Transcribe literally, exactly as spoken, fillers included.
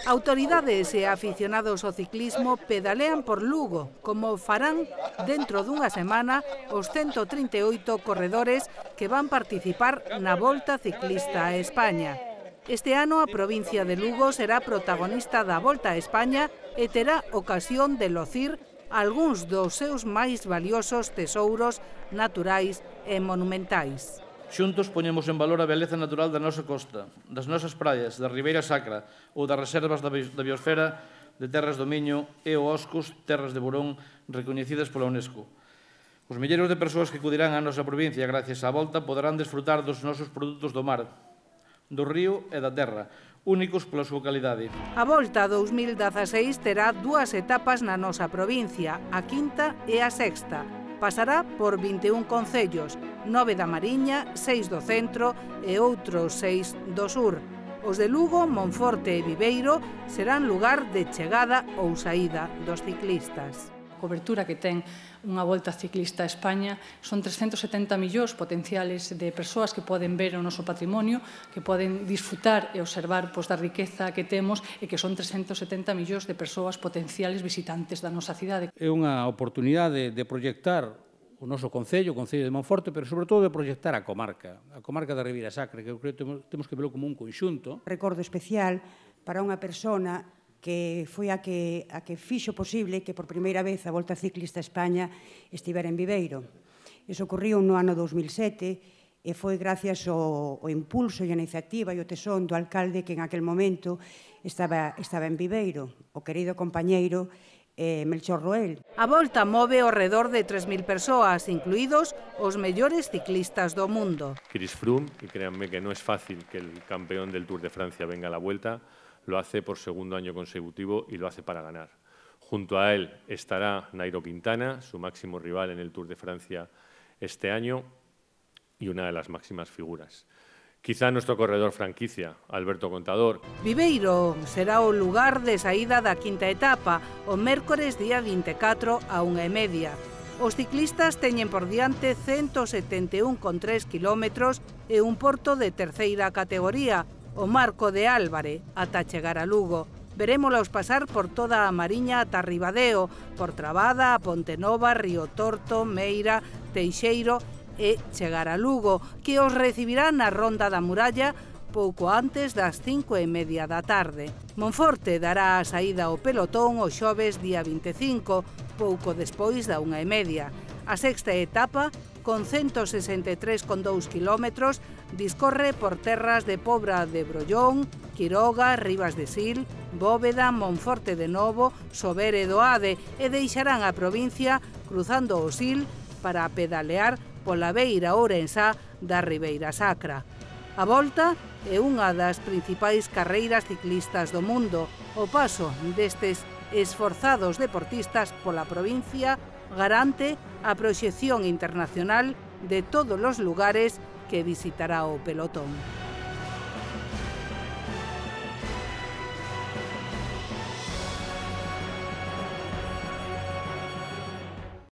Autoridades e aficionados ao ciclismo pedalean por Lugo, como farán dentro dunha semana os ciento trinta e oito corredores que van participar na Volta Ciclista a España. Este ano a provincia de Lugo será protagonista da Volta a España e terá ocasión de locir algúns dos seus máis valiosos tesouros naturais e monumentais. Xuntos poñemos en valor a beleza natural da nosa costa, das nosas praias, da Ribeira Sacra ou das reservas da biosfera de Terras do Miño e o Oscos, Terras de Burón, recoñecidas pola UNESCO. Os milleiros de persoas que acudirán á nosa provincia gracias á volta poderán desfrutar dos nosos produtos do mar, do río e da terra, únicos pola súa calidade. A Volta dous mil dezaseis terá dúas etapas na nosa provincia, a quinta e a sexta. Pasará por vinte e un concellos, nove da Mariña, seis do centro e outros seis do sur. Os de Lugo, Monforte e Viveiro serán lugar de chegada ou saída dos ciclistas. A cobertura que ten unha Volta Ciclista a España son trescentos setenta millóns potenciales de persoas que poden ver o noso patrimonio, que poden disfrutar e observar pois, da riqueza que temos e que son trescentos setenta millóns de persoas potenciales visitantes da nosa cidade. É unha oportunidade de proyectar o noso concello, o Concello de Monforte, pero sobre todo de proyectar a comarca, a comarca da Ribeira Sacra, que eu creo que temos que verlo como un conxunto. Recordo especial para unha persona que foi a que, a que fixo posible que por primeira vez a Volta Ciclista a España estivera en Viveiro. Iso ocorriu no ano dous mil sete e foi gracias ao, ao impulso e a iniciativa e o tesón do alcalde que en aquel momento estaba, estaba en Viveiro, o querido compañeiro eh, Melchor Roel. A Volta move ao redor de tres mil persoas, incluídos os mellores ciclistas do mundo. Chris Froome, y créanme que no es fácil que el campeón del Tour de Francia venga a la Vuelta, lo hace por segundo año consecutivo y lo hace para ganar. Junto a él estará Nairo Quintana, su máximo rival en el Tour de Francia este año y una de las máximas figuras. Quizá nuestro corredor franquicia, Alberto Contador. Viveiro será o lugar de saída da quinta etapa, o mércores día vinte e catro a unha e media. Os ciclistas teñen por diante ciento setenta e un coma tres kilómetros e un porto de terceira categoría, o Marco de Álvare, ata chegar a Lugo. Verémolos pasar por toda a Mariña ata Ribadeo, por Trabada, a Pontenova, Río Torto, Meira, Teixeiro e chegar a Lugo, que os recibirá na Ronda da Muralla pouco antes das cinco e media da tarde. Monforte dará a saída ao pelotón o xoves día vinte e cinco, pouco despois da unha e media. A sexta etapa, con ciento sesenta e tres coma dous kilómetros, discorre por terras de Pobra de Brollón, Quiroga, Rivas de Sil, Bóveda, Monforte de Novo, Sober e Doade e deixarán a provincia cruzando o Sil para pedalear pola beira ourensá da Ribeira Sacra. A Volta é unha das principais carreiras ciclistas do mundo. O paso destes esforzados deportistas pola provincia garante a proxección internacional de todos os lugares que visitará o pelotón.